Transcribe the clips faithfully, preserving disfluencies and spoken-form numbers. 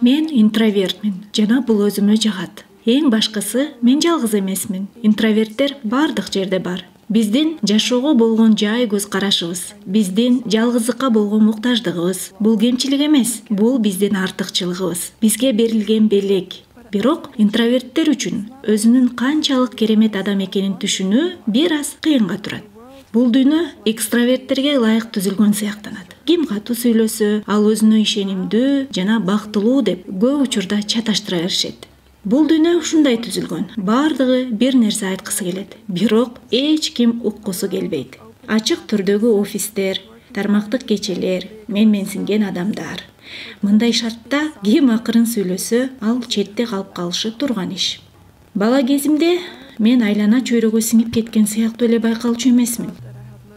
Мен интровертмин жана бул өзүмө жагат. Эң башкысы, мен жалгыз эмесмин. Интроверттер бардык жерде бар. Биздин жашоого болгон жай көз карашыбыз, биздин жалгыздыкка болгон муктаждыгыбыз бул кемчилик эмес, бул биздин артыкчылыгыбыз, бизге берилген белек. Бирок интроверттер үчүн өзүнүн канчалык керемет адам экенин түшүнүү бир аз кыйынга турат. Бул дүйнө экстраверттерге ылайык түзүлгөн сыяктанат. Ким катуу сүйлөсө, ал өзүнө ишенимдүү жана бактылуу деп көп учурда чаташтыра беришет. Бул дүйнө ушундай түзүлгөн. Бардыгы бир нерсе айткысы келет, бирок эч ким уккусу келбейт. Ачык түрдөгү офистер, тармактык кечелер, менменсинген адамдар. Мындай шартта ким акырын сүйлөсө, ал четте калып калышы турган иш. Бала кезимде мен айлана чөйрөгө сиңип кеткен сыяктуу эле байкалчу эмесмин.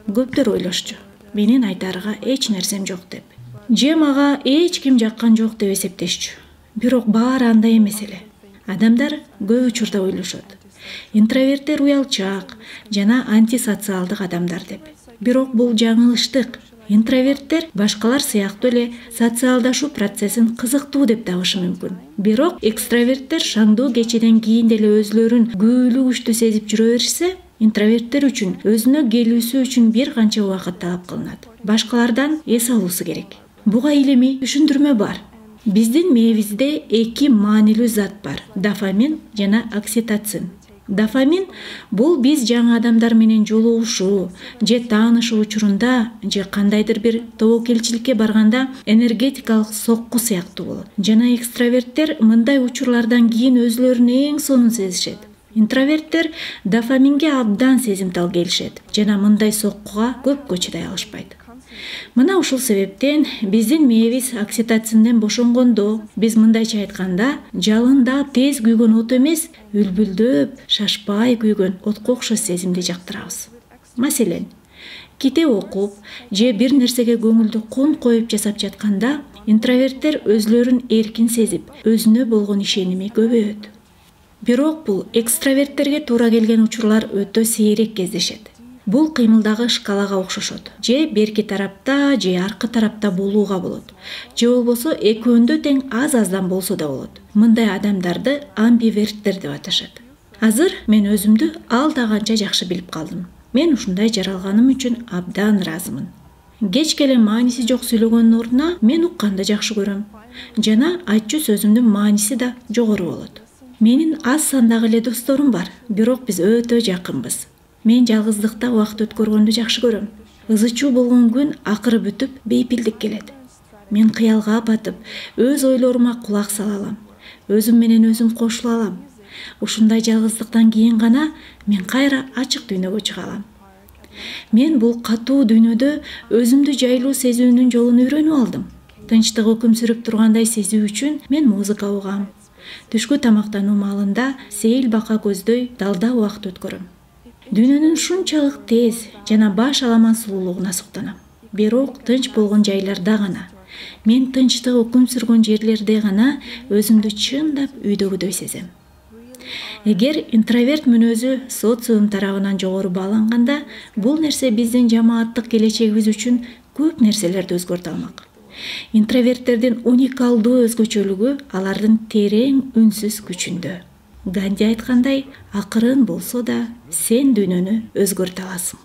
Көптөр ойлошчу, менин айтаарга эч нерсем жок деп. Же мага эч ким жаккан жок деп эсептешчү. Бирок баары андай эмес эле. Адамдар көп учурда ойлошот. Интроверттер уялчаак жана антисоциалдык адамдар деп. Бирок бул жаңылыштык. Интроверттер башкалар сыяктуу эле социалдашуу процессин кызыктуу деп табышы мүмкүн. Бирок экстраверттер шаңдуу кечеден кийин деле өзүлөрүн күбөлүү күчтүү сезип жүрө беришсе, интроверттер үчүн өзүнө келүүсү үчүн бир канча убакыт талап кылынат. Башкалардан эс алуусу керек. Буга илимий түшүндүрмө бар. Биздин мээбизде эки маанилүү зат бар: дофамин жана окситоцин. Дофамин — бул биз жаңы адамдар менен жолугушуу же таанышуу учурунда же кандайдыр бир тобокелчиликке барганда энергетикалык сокку сыяктуу болот. Жана экстраверттер мындай учурлардан кийин өзүлөрүн эң сонун сезишет. Интроверттер дофаминге абдан сезимтал келишет жана мындай соккуга көпкө чыдай алышпайт. Мына ушул себептен биздин мээбиз окситоцинден бошонгондо, биз мындайча айтканда, жалындап тез күйгөн от эмес, үлбүлдөп, шашпай күйгөн отко окшош сезимди жактырабыз. Маселен, китеп окуп же бир нерсеге көңүлдү кон коюп жасап жатканда интроверттер өзүлөрүн эркин сезип, өзүнө болгон ишеними көбөйөт. Бирок бул экстраверттерге туура келген учурлар өтө сейрек кездешет. Бул кыймылдагы шкалага окшошот. Же берки тарапта, же аркы тарапта болууга болот. Же болбосо экөөндө тең аз-аздан болсо да болот. Мындай адамдарды амбиверттер деп аташат. Азыр мен өзүмдү ал да канча жакшы билип калдым. Мен ушундай жаралганым үчүн абдан ыраазымын. Кечке эле мааниси жок сүйлөгөндүн ордуна мен укканды жакшы көрөм. Жана айтчу сөзүмдүн мааниси да жогору болот. Менин аз сандагы эле досторум бар, бирок биз өтө жакынбыз. Мен жалгыздыкта убакыт өткөргөндү жакшы көрөм. Ызы-чуу болгон күн акыры бүтүп, бейпилдик келет. Мен кыялга батып, өз ойлорума кулак сала алам. Өзүм менен өзүм кошула алам. Ушундай жалгыздыктан кийин гана мен кайра ачык дүйнөгө чыга алам. Мен бул катуу дүйнөдө өзүмдү жайлуу сезүүнүн жолун үйрөнүп алдым. Тынчтык өкүм сүрүп тургандай сезүү үчүн мен музыка угам. Түшкү тамактануу маалында сейил бака көздөй далда убакыт өткөрөм. Дүйнөнүн ушунчалык тез жана баш аламан сулуулугуна суктанам. Бирок тынч болгон жайларда гана, мен тынчтык өкүм сүргөн жерлерде гана өзүмдү чындап үйдөгүдөй сезем. Эгер интроверт мүнөзү социум тарабынан жогору бааланганда, бул нерсе биздин жамааттык келечегибиз үчүн көп нерселерди өзгөртө алмак. Интроверттердин уникалдуу өзгөчөлүгү алардын терең үнсүз күчүндө. Ганди айткандай, акырын болсо да сен дүйнөнү өзгөртө аласың.